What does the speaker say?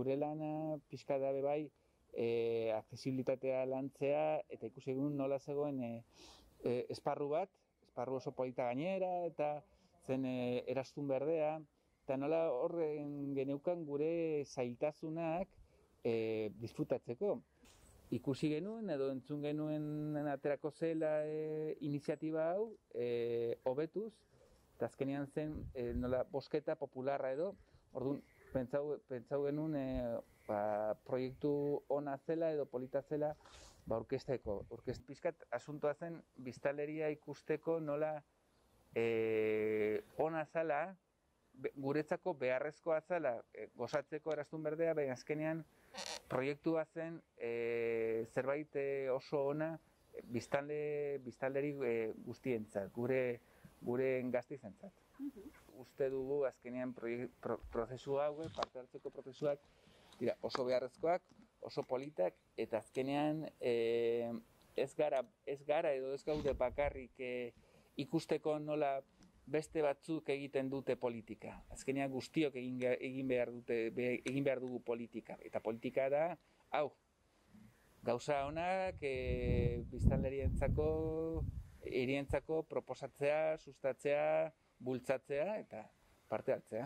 gure lana pixka da bai accesibilitatea lantzea, eta ikusi egun nola zegoen esparru bat, esparru oso polita gainera, eta zen erastun berdea, eta nola horren geneukan gure zailtasunak disfrutatzeko. Ikusi genuen edo entzun genuen aterako zela iniziatiba hau hobetuz, eta azkenean zen nola bosketa popularra edo, orduan pentsau genuen proiektu ona zela edo polita zela orkesteko. Pixkat asuntoa zen biztanleria ikusteko nola ona zala, guretzako beharrezkoa zala gozatzeko erastun berdea, baina azkenean proiektua zen zerbait oso ona biztanleri guztientzat, gure gazteizentzat. Uste dugu azkenean prozesu hauek, parte hartzeko prozesuak dira oso beharrezkoak, oso politak, eta azkenean ez gara edo ez gaude bakarrik ikusteko nola beste batzuk egiten dute politika. Azkenean guztiok egin behar dugu politika. Eta politika da, hau, gauza honak biztanlerientzako, hirientzako proposatzea, sustatzea, bultzatzea eta parte hartzea.